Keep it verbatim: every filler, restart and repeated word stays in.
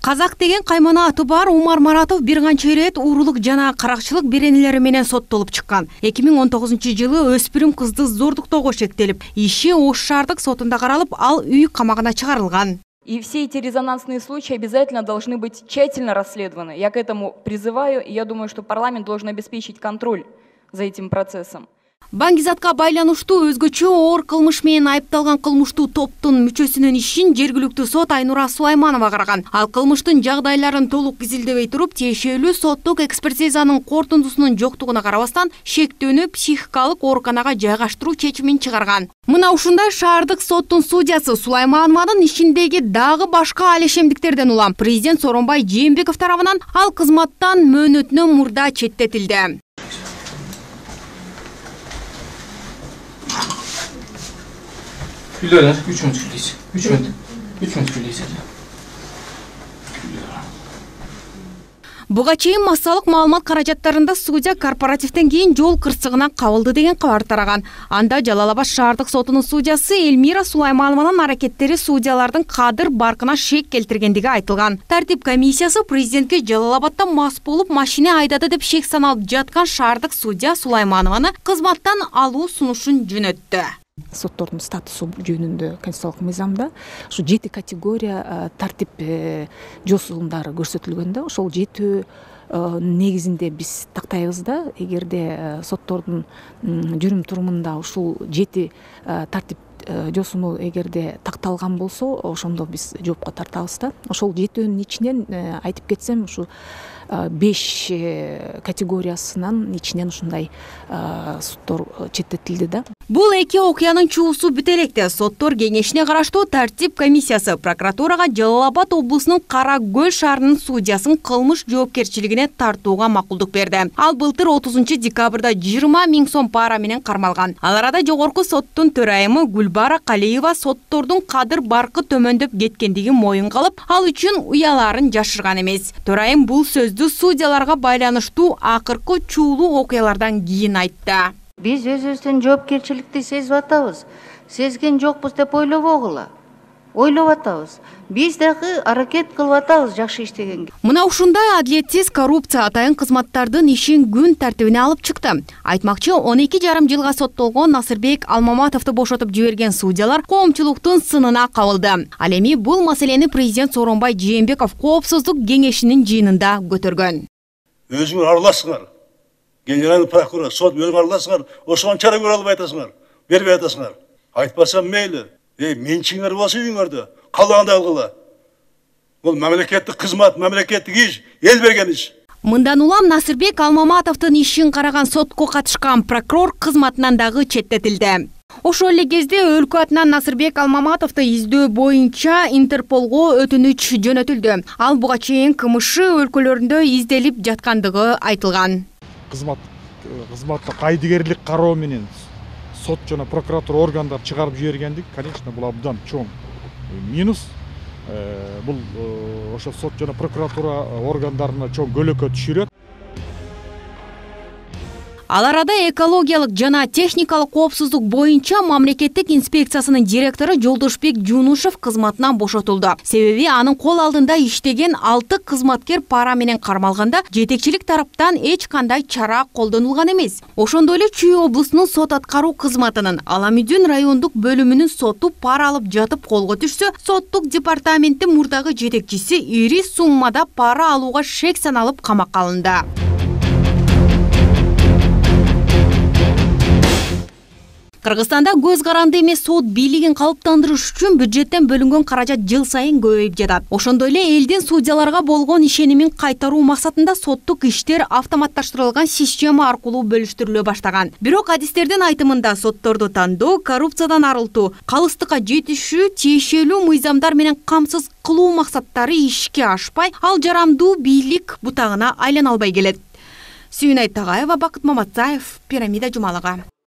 Казак деген каймана аты бар Умар Маратов бир канча ирет уурулук жана каракчылык беренелери менен соттолуп чыккан. эки миң он тогузунчу жылы өспүрүм кызды зордуктоого шектелип, иши Ош шаардык сотунда каралып, ал үй камагына чыгарылган. И все эти резонансные случаи обязательно должны быть тщательно расследованы. Я к этому призываю, и я думаю, что парламент должен обеспечить контроль за этим процессом. Баңгизатка байланыштуу өзгөчө оор кылмыш менен айыпталган кылмыштуу топтун мүчөсүнүн ишин жергиликтүү сот Айнура Сулайманова караган. Ал кылмыштын жагдайларын толук изилдебей туруп, тиешелүү соттук экспертизанын корутундусунун жоктугуна карабастан шектүүнү психикалык ооруканага жайгаштыруу чечимин чыгарган. Мына ушундай шаардык соттун судьясы Сулайманованын ишиндеги дагы башка алешемдиктерден улам президент Сооронбай Жээнбеков тарабынан ал кызматтан мөөнөтүнөн мурда четтетилди. Күллөр үч мүнөт күлейсиз. үч мүнөт. үч мүнөт күлейсиз. Буга чейин массалык маалымат каражаттарында судья корпоративден кийин жол кырсыгына кабылды деген кабар тараган. Анда Жалал Абад шаардык сотунун судьясы Эльмира Сулайманованын аракеттери судьялардын кадыр баркына шек келтиргендиги айтылган. Тартип комиссиясы президентке Жалал Абадда мас болуп машина айдады деп шек саналып жаткан шаардык судья Сулайманованы кызматтан алуу сунушун жөнөттү. Соттордун статусу жөнүндө конституциялык мыйзамда ушу жети категория тартип жосундары көрсөтүлгөндө, ошол жети негизинде биз тактайбыз да, эгерде соттордун жүрүм турумунда ушул жети тартип жосуну эгерде такталган болсо, ошондо биз жоопко тартабыз да. Ошол жетөөнүн ичинен айтып кетсем, ушу беш категориясынан ичинен ушундай соттор четтетилди да. Бул эки окуянын чуусу бүт электе. Соттор кеңешине караштуу тартип комиссиясы прокуратурага Жалал Абад облусунун Кара Көл шаарынын судьясын кылмыш жоопкерчилигине тартууга макулдук берди. Ал былтыр отузунчу декабрда жыйырма миң сом пара менен кармалган. Ал арада жогорку соттун төрайымы Гүлбара Калиева соттордун кадыр баркы төмөндөп кеткендигин моюнга алып, ал үчүн уяларын жашырган эмес. Төрайым бул сөздү судьяларга байланыштуу акыркы чуулуу окуялардан кийин айтты. Биз өзүбүздүн жоопкерчиликти сезип атабыз. Сезген жокпуз деп ойлобогула. Ойлоп атабыз. Биз дагы аракет кылып атабыз жакшы иштегенге. Мына ушундай адилетсиз коррупция атайын кызматтардын ишин күн тартибине алып чыкты. Айтмакчы, он эки жарым жылга соттолгон Насырбек Алмаматовду бошотуп жиберген судьялар коомчулуктун сынына кабылды. Ал эми бул маселени президент Сооронбай Жээнбеков коопсуздук кеңешинин жыйынында көтөргөн. Өзүңөр аралашсыңар. Генеральный прокурор, сот өзүң араласыңар, ошон чара көрө албай атасыңар, бербей атасыңар. Айтпасам мейли, эй, менчиңер болсо үйүңөрдө, калганда алгыла. Бул мамлекеттик кызмат, мамлекеттик иш, эл берген иш. Мындан улам Насырбек Алмаматовдун ишин караган сотко катышкан прокурор кызматынан дагы четтетилди. Ошол эле кезде өлкө атынан Насырбек Алмаматовду издөө боюнча Интерполго өтүнүч жөнөтүлдү. Ал буга чейин кылмыш өлкөлөрүндө изделип жаткандыгы айтылган. Кызмат кызматта кайдыгерлик кароо менен сот жана прокуратура органдар чыгарып жибергендик, конечно, бул абдан чоң минус. Бул ошо сот жана прокуратура органдарына чоң көлөкө түшүрөт. Ал арада экологиялык жана техникалык коопсуздук боюнча мамлекеттик инспекциясынын директору Жолдошбек Жунушев кызматынан бошотулду. Себеби анын кол алдында иштеген алты кызматкер пара менен кармалганда жетекчилик тараптан эч кандай чара колдонулган эмес. Ошондой эле Чүй облусунун сот аткаруу кызматынын Аламүдүн райондук бөлүмүнүн соту пара алып жатып колго түшсө, соттук департаменттин мурдагы жетекчиси ири суммада пара алууга шек саналып камакка алынды. Кыргызстанда көз каранды эмес сот бийлигин калыптандырыш үчүн бюджеттен бөлүнгөн каражат жыл сайын көбөйүп жатат. Ошондой эле элдин судьяларга болгон ишенимин кайтаруу максатында соттук иштер автоматташтырылган система аркылуу бөлүштүрүлө баштаган. Бирок адистердин айтымында сотторду тандоо, коррупциядан арылтуу, калыстыкка жетишүү, тиешелүү мыйзамдар менен камсыз кылуу максаттары ишке ашпай, ал жарамдуу бийлик бутагына айлана албай келет. Сүйүнай Тагаева, Бакыт Маматзаев, Пирамида жумалыгы.